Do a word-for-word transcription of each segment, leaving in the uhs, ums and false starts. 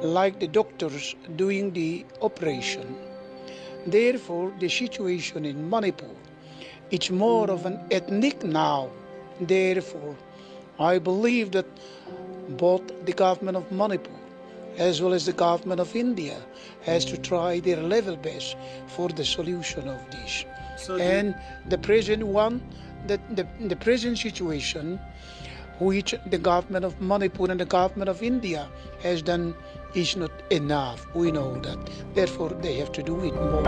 like the doctors doing the operation. Therefore, the situation in Manipur, it's more of an ethnic now. Therefore, I believe that both the government of Manipur as well as the government of India has to try their level best for the solution of this. So the And the present one, the, the, the present situation which the government of Manipur and the government of India has done is not enough. We know that. Therefore, they have to do it more.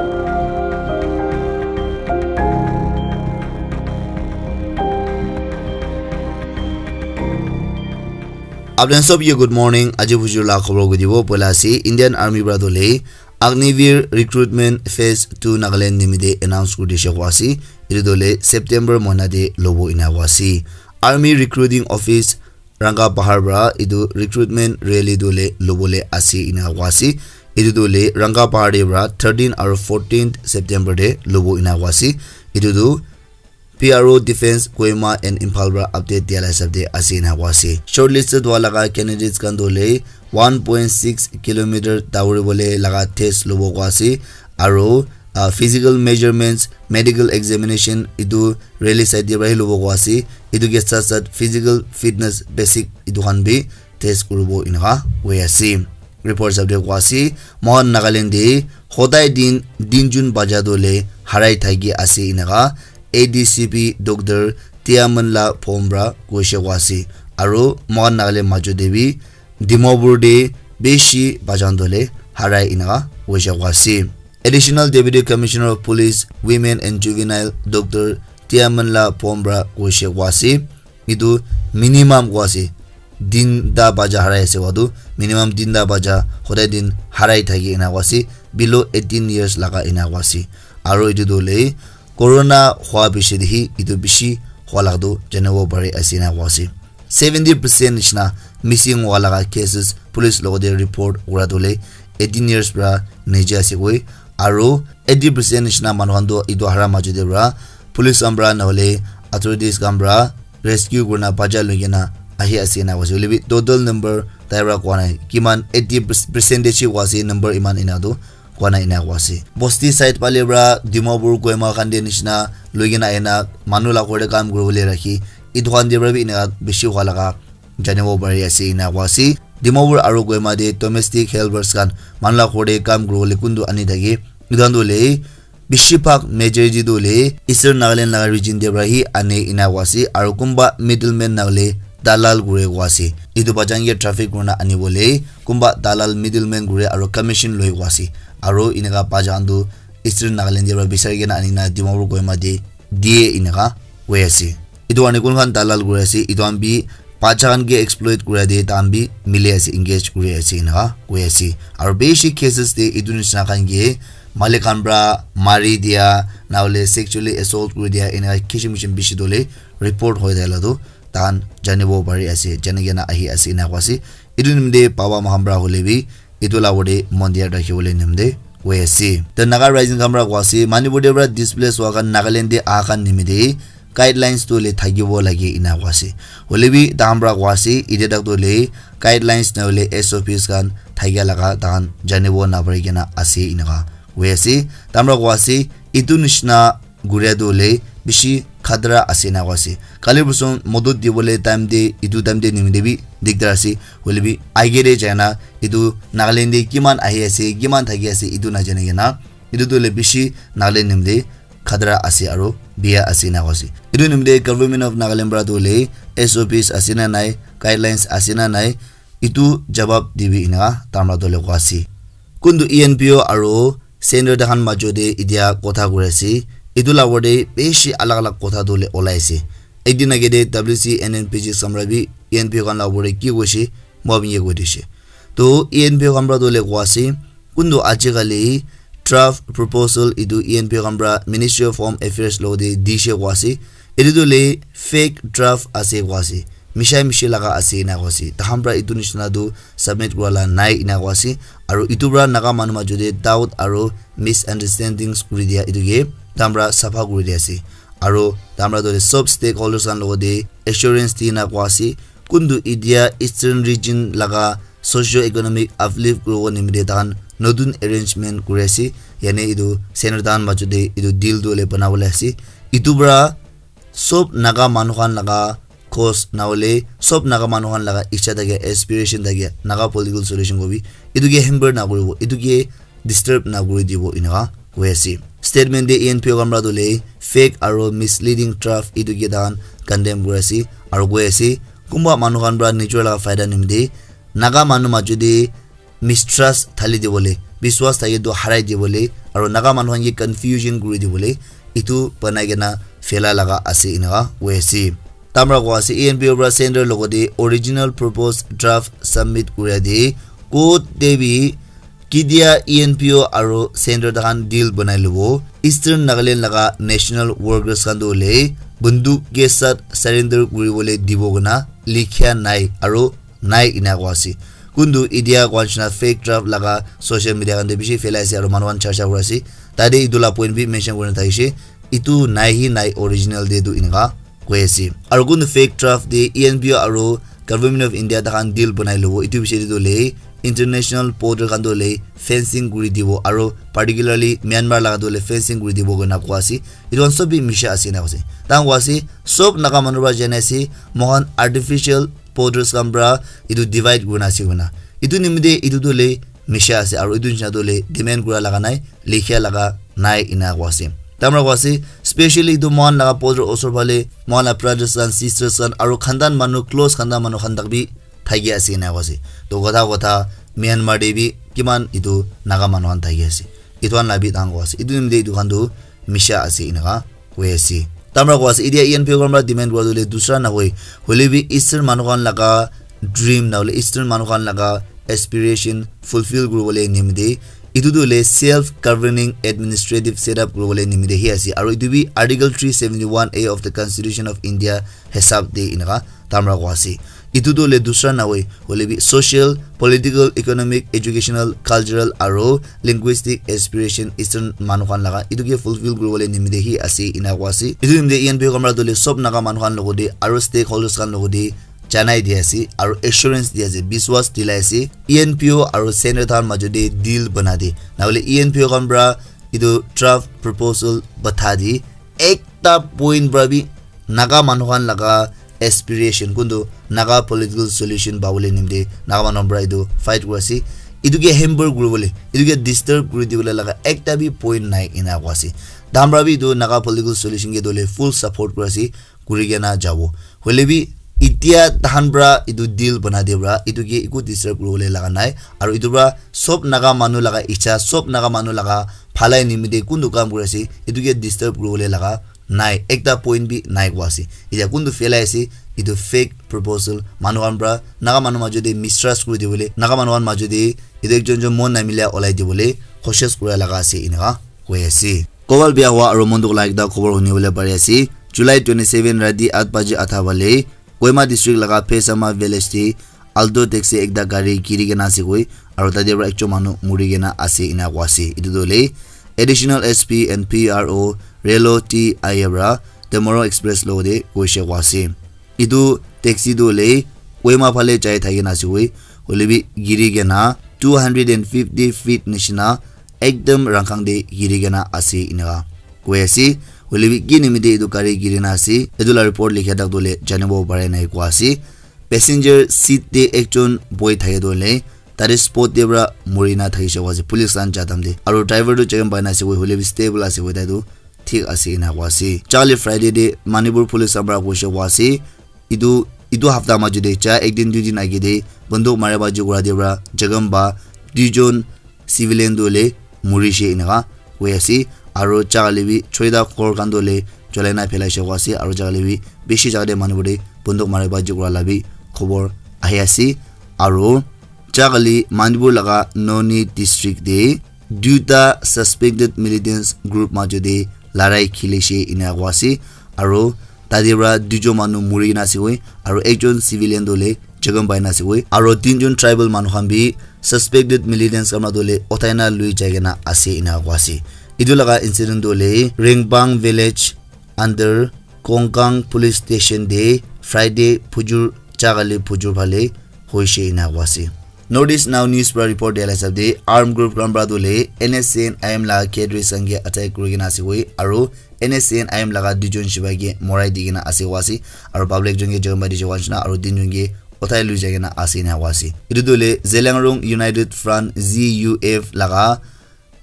Apni sob ye good morning. Aji bujur la khobor ko dibo poila ase Indian Army para dole Agniveer recruitment phase two Nagaland nimite announce kuri dishe ko ase. Etu dole September mohna de lobo ina ko ase. Army recruiting office Ranga Bahar para etu recruitment rally tu le lobole ase ina koa ase. Etu tu le Ranga Bahar te para thirteen aru fourteenth September te lobo ina koa ase. Etu tu P R O Defence Kohima and Imphal para update dia la hisab te ase ina koa ase. Shortlisted hua laga candidates khan tu le one point six kilometer dauri bole laga test lobo koa ase. Aru uh, physical measurements, medical examination etu rally side te para hi lobo koa ase. Etu ke sat sat physical fitness basic etu khan bi test kuribo eneka hoi ase. Report sab te koa ase mohan Nagaland te hodai din din jun baja tu le harai thaki ase eneka A D C P Doctor Tiamanla Phom para koise koa ase. Aru mohan Nagaland majot te bi Dimapur te bishi bajan dole harai eneka hoishe koa ase. Additional Deputy Commissioner of Police, Women and Juvenile Doctor Tiamanla Phom para hoishe koa ase. Etu minimum koa ase. Tinta baja harai ase koa tu minimum tinta baja hodai din harai thaki ena koa ase. Below eighteen years laga ena koa ase. Aru etu tu le corona hua bishi de hi etu bishi hua laga tu janibo pari ase ena koa ase. Seventy percent nishina missing hua laga cases police logote report kura tu le eighteen years para niche ase koi. Aru eighty percent nishina manu khan tu etu hara majot te para police khan para nahole authorities khan para rescue kurina bacha loi kena ahi ase ena koise. Hoile bi total number tai para koa nai. Kiman eighty percentage hi koa ase number iman ena tu koa nai ena koa ase. Bosti side phale para Dimapur Kohima khan te nishina loi kena ahina manu la ghor te kam kuribole rakhi. Etu khan te para bi eneka bishi hua laga janibo pari ase ena koa ase. Dimapur aru Kohima te domestic helpers khan manu la ghor te kam kuribole kuntu ani thake. Etu khan tu hoile bishi bhag majority tu hoile Eastern Nagaland laga region te para hi ane ena koa ase. Aru kunba middleman nahole dalal kure koa ase. Etu bachan ke traffic kurina anibole kunba dalal middleman kure aru commission loi koa ase. Aru eneka bacha khan tu Eastern Nagaland te para bisari kena anina Dimapur Kohima te diye eneka hoi ase. Etu karne kun khan dalal kuri ase, etu khan bi bacha khan ke exploit kura te tai khan bi mili ase, engage kuri ase eneka hoi ase. Aru bishi cases te etu nishina khan ke malik khan para mari dia, nahole sexually assault kuri dia, eneka kishim kishim bishi dole report hoi thaka la tu tai khan janibo pari ase, jani kena ahi ase eneka koa ase. Etu nimite baba moikhan para hoile bi etu la opor te mon dhyan rakhi bole nimite koi ase. The Naga Rising khan para koa ase, Manipur te para displace hua khan Nagaland te aha khan nimite guidelines tu hoile thakibo lage ena koa ase. Hoile bi tai khan para koa ase, etia tak tu hoile guidelines nahole S O Ps khan thakia laga tai khan janibo napari kena ase eneka koi ase. Tai khan para koa ase, etu nishina guria tu hoile bishi khatara ase ena koa ase. Kali bosor modot dibole time te etu time te nimite bi dikdar ase. Hoile bi age te jai na etu Nagaland te kiman ahi ase, kiman thaki ase, etu najane kena etu tu hoile bishi Nagaland nimite khatara ase aru biya ase ena koa ase. Etu nimite Government of Nagaland para tu hoile S O Ps ase na nai, guidelines ase na nai, etu jawab dibi eneka tai khan para tu hoile koa ase. Kuntu E N P O aru Center takhan majo te etia kotha kuri ase. Etu la opor te bishi alak alak kotha tu hoile olai ase. Ekdin age te W C N N P G samra bi E N P O khan la opor te ki koise, moi apni ke koi dishe. To E N P O khan para tu hoile koa ase, kuntu ajikali draft proposal etu E N P O khan para Ministry of Home Affairs logote dishe koa ase. Etu tu hoile fake draft ase koa ase. Mishai mishi laga ase ena koa ase. Takhan para etu nishina tu submit kura la nai ena koa ase. Aru etu para Naga manu majo te doubt aru misunderstandings kuri dia etu ke takhan para sapha kuri dia ase. Aru takhan para tu sob stakeholders khan logote assurance di na koa ase. Kuntu etia Eastern Region laga socio economic uplift kuribo nimite tahan notun arrangement kuri ase. Yane etu center tahan majo te etu deal tu hole banabole ase. Etu para sob Naga manu khan laga cause na hole sob Naga manu khan laga ichha thake, aspiration thake, Naga political solution kobi etu ke hamper na kuribo, etu ke disturb na kuri dibo eneka koi ase. Statement te E N P O khan para tu le fake aro misleading draft etu ke tahan condemn kuri ase aro koi ase kunba manu khan para nijor laga faida nimite Naga manu majo te mistrust thali dibole, biswas thake tu harai dibole, aro Naga manu khan ke confusion kuri dibole, etu banai kena phaila laga ase eneka koi ase. Tamra koi ase, E N P O para center logote original proposed draft submit kuria de, court te bi kidia E N P O aro center tahan deal banai lobo. Eastern Nagaland laga national workers khan tu hole bunduk ke sat surrender kuribole dibo kena likhia nai aro nai ena koi ase. Kuntu etia koi nishina fake draft laga social media khan te bishi phelai ase aro manu khan charcha kuri ase. Tate etu la point bi mention kurina thakishe. Etu nai hi nai original te tu eneka koi ase. Aro kuntu fake draft te E N P O aro Government of India takhan deal banai lobo. Etu bishi te tu le international border khan tu le fencing kuri dibo aro particularly Myanmar laga tu le fencing kuri dibo koi na koi ase. Etu khan sob bi misha ase ena koi ase. Takhan koi ase sob Naga manu para jane ase moikhan artificial borders khan para etu divide kurina ase koina. Etu nimite etu tu le misha ase aro etu nishina tu le demand kura laga nai, likhia laga nai ena koi ase. Tamra koi ase, specially etu moikhan laga border osor phale moikhan la brothers khan, sisters khan aro khandan manu, close khandan manu khan tak bi thaki ase ena koi ase. To kotha kotha Myanmar te bi kiman etu Naga manu khan thaki ase. Etu khan la bi tang koi ase. Etu nimite etu khan tu misha ase eneka koi ase. Tamra koi ase, etia E N P O khan para demand kura tu le dusra na hoi. Hoile bi Eastern manu khan laga dream na hole Eastern manu khan laga aspiration fulfill kuribole nimite etu tu le self governing administrative setup kuribole nimite hi ase. Aro etu bi Article three seventy-one A of the Constitution of India hisab te eneka tamra koi ase. Etu tu le dusra na hoi. Hoile bi social, political, economic, educational, cultural aro linguistic aspiration Eastern manu khan laga etu ke fulfill kuribole nimite hi ase ena koi ase. Etu nimite E N P O khan para tu le sob Naga manu khan logote aro stakeholders khan logote janai di ase aro assurance di ase, biswas dilai ase. E N P O aro center tahan majo te deal bana de. Na hole E N P O khan para etu draft proposal batha de. Ekta point para bi Naga manu khan laga aspiration kuntu Naga political solution pabole nimite Naga manu khan para etu fight kuri ase. Etu ke hamper kuribole, etu ke disturb kuri dibole laga ekta bi point nai ena koi ase. Tamra bi etu Naga political solution ke tu le full support kuri ase, kuri kena jabo. Hoile bi etia tahan para etu deal bana de para etu ke eku disturb kuribole laga nai. Aro etu para sob Naga manu laga ichha, sob Naga manu laga bhalai nimite kuntu kam kuri ase, etu ke disturb kuribole laga nai, ekta point bi nai koi ase. Etia kuntu phelai ase, etu fake proposal manu khan para Naga manu majo te mistrust kuri dibole, Naga manu khan majo te etu ekjon ekjon mon namila olai dibole koshish kura laga ase eneka koi ase. Kobal bia hua aro mon dukh la ekta khobor huni bole pari ase. July twenty-seven rati eight baji atha bale Kohima district laga Phesama village te Alto taxi ekta gari giri kena ase koi, aro tate para ekjon manu muri kena ase ena koi ase. Etu tu hole Additional S P and P R O Relo T I A para Tomorrow Express logote koishe koi ase. Etu taxi tu hole Kohima phale jai thaki na ase koi, hoile bi giri kena two hundred and fifty feet nishina ekdam rangkhang te giri kena ase eneka koi ase. Hoile bi ki nimite etu gari giri na ase, etu la report likha tak tu hole janibo pare nai koi ase. Passenger seat te ekjon bohi thake tu hole tate spot te para muri na thakishe koi ase police khan ja time te. Aro driver tu checking pai na ase koi, hoile bi stable ase koi, tai tu thik ase ena koi ase. Charli Friday te Manipur police khan para koishe koi ase, etu, etu hapta majo te ja ek din dui din age te banduk mara baji kura te para Jagam ba duijon civilian tu hole murishe eneka koi ase. Aro jagale bi choita ghor khan tu hole jolai na phelaishe koi ase, aro jagale bi bishi jaga te manu khan te banduk mara baji kura la bi khobor ahi ase. Aro jagale Manipur laga Noni district te duita suspected militants group majo te larai khilishe eneka koi ase, aro tate para duijon manu muri kena ase koi, aro ekjon civilian tu hole jagam pai na ase koi, aro tinjon tribal manu khan bi suspected militants khan para tu hole uthai na lui jai kena ase eneka koi ase. Etu laga incident tu hole Ringbang village under Kongkang police station te Friday phujur jagale phujur phale hoishe eneka koi ase. North East Now News pra report dia la hisab de, armed group khan pra tu le N S C N I M la cadres khan ke attack kuri kena ase koi, aru N S C N I M laga duijon sipai ke morai di kena ase koa ase, aru public jon ke jon bai di jawa nishina, aru tinjon ke uthai lui jai kena ase ena koa ase. Etu tu le Zeliangrong United Front, Z U F, laga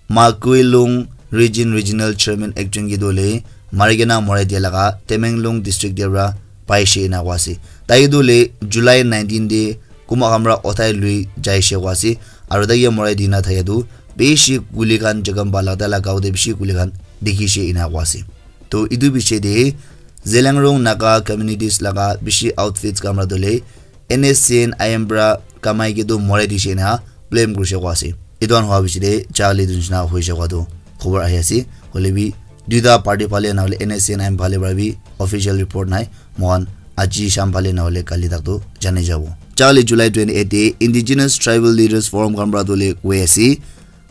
Makuilung Region Regional Chairman ekjon ke tu le mari kena morai dia laga Tamenglong District te pra paishe ena koa ase. Tai tu le July nineteen te kuma khan pra uthai lui jaishe koa ase, aru tai ke morai dina thake tu bishi guli khan jagam ba lagda la gao te bishi guli khan dikhishe ena koa ase. To etu piche te Zeliangrong Naga communities laga bishi outfits khan pra tu le N S C N I M pra kamai ke tu morai dishe ena blame kurishe koa ase. Etu khan hoa piche te jali tu nishina hoishe koa tu khobor ahi ase. Hoile bi duita party phale na hole N S C N I M phale pra bi official report nai. Mohan aji sham phale na hole kali tak tu jani jabo. Jali July twenty-eight te Indigenous Tribal Leaders Forum khan pra tu le koi ase,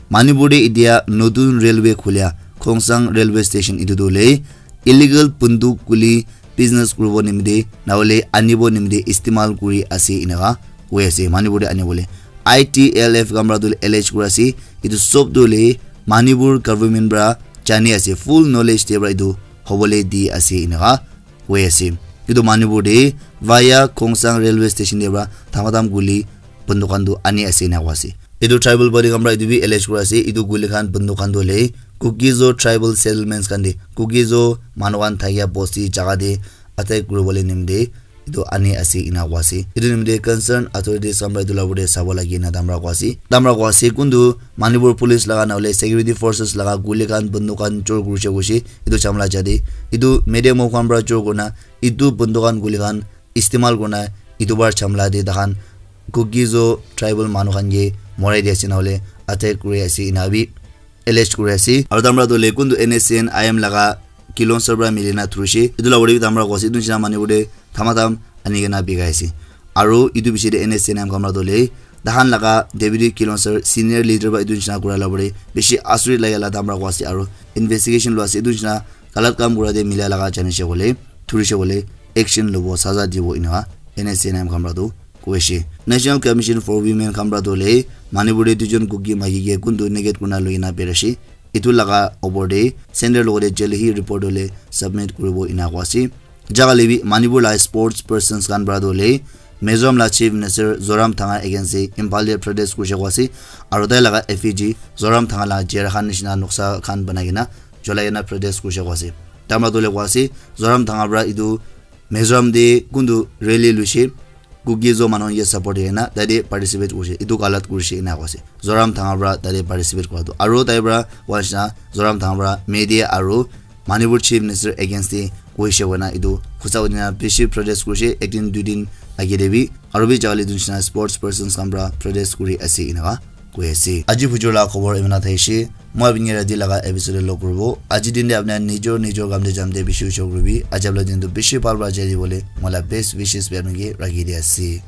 Manipur te itia notun railway khulia Khongsang railway station etu tu le illegal bunduk guli business kuribo nimite na hole anibo nimite istemal kuri ase eneka koi ase. Manipur te anibole I T L F khan pra tu le allege kuri ase. Etu sob tu le Manipur government pra jani ase, full knowledge te pra etu hobole di ase eneka koi ase. Etu Manipur te via Khongsang railway station te pra thamatam guli bunduk khan tu ani ase ena koa ase. Etu tribal body khan pra etu bi allege kuri ase, etu guli khan bunduk khan tu le Kuki-Zo tribal settlements khan te, Kuki-Zo manu khan thakia bosti jaga te attack kuribole nimite etu ani ase ena koa ase. Etu nimite concern authorities khan pra etu la opor te sabo lage ena tamra koa ase. Tamra koa ase kuntu Manipur police laga na hole security forces laga guli khan bunduk khan chor kurishe koishe etu chamla jate etu medium of khan pra chor kurina etu bunduk khan guli khan istemal kurina etu bar chamla te takhan Kuki-Zo tribal manu khan ke morai di ase na hole attack kuri ase ena bi allege kuri ase. Aru tamra tu le kuntu N S C N I M laga kilonser pra milina thurishe. Etu la opor te bi tamra koa ase. Etu nishina manu te thamatam ani kena bikai ase. Aru etu piche te N S C N I M khan pra tu le tahan laga deputy kilonser senior leader pra etu nishina kura la opor te bishi asurit lage la tamra koa ase. Aru investigation lua ase. Etu nishina galat kam kura te mila laga janishe koile, thurishe koile action lobo, saza dibo eneka N S C N I M khan pra tu koishe. National Commission for Women khan pra tu le Manipur te duijon Kuki maiki ke kuntu naked kurina lui kena berashe. Etu laga opor te center logote jale hi report hole submit kuribo ena koa ase. Jaga le bi Manipur la sports persons khan pra tu le Mizoram la Chief Minister Zoram Thanga against te Imphal te protest kurishe koa ase. Aru tai laga effigy Zoram Thanga la chair khan nishina noksa khan banai kena cholai kena protest kurishe koa ase. Tamra tu le koa ase Zoram Thanga pra etu Mizoram te kuntu rally luishe Kuki-Zo manu khan ke support kuri kena tate participate kurishe, etu galat kurishe ena koa ase. Zoram Thanga pra tate participate kura tu. Aru tai pra koa nishina Zoram Thanga pra media aru Manipur Chief Minister against te koishe koina etu khutsa kuri kena bishi protest kurishe, ek din dui din age te bi. Aru bi jaga le etu nishina sports persons khan pra protest kuri ase eneka koi ase. Aji bujor la khobor imina thaishe. Moi apni ke rati laga episode te log kuribo. Aji din te apni nijor nijor kam te jam te bishi ushor kuribi. Aji apni din tu bishi bhal pra jai dibole moi la best wishes bi apni ke rakhi di ase.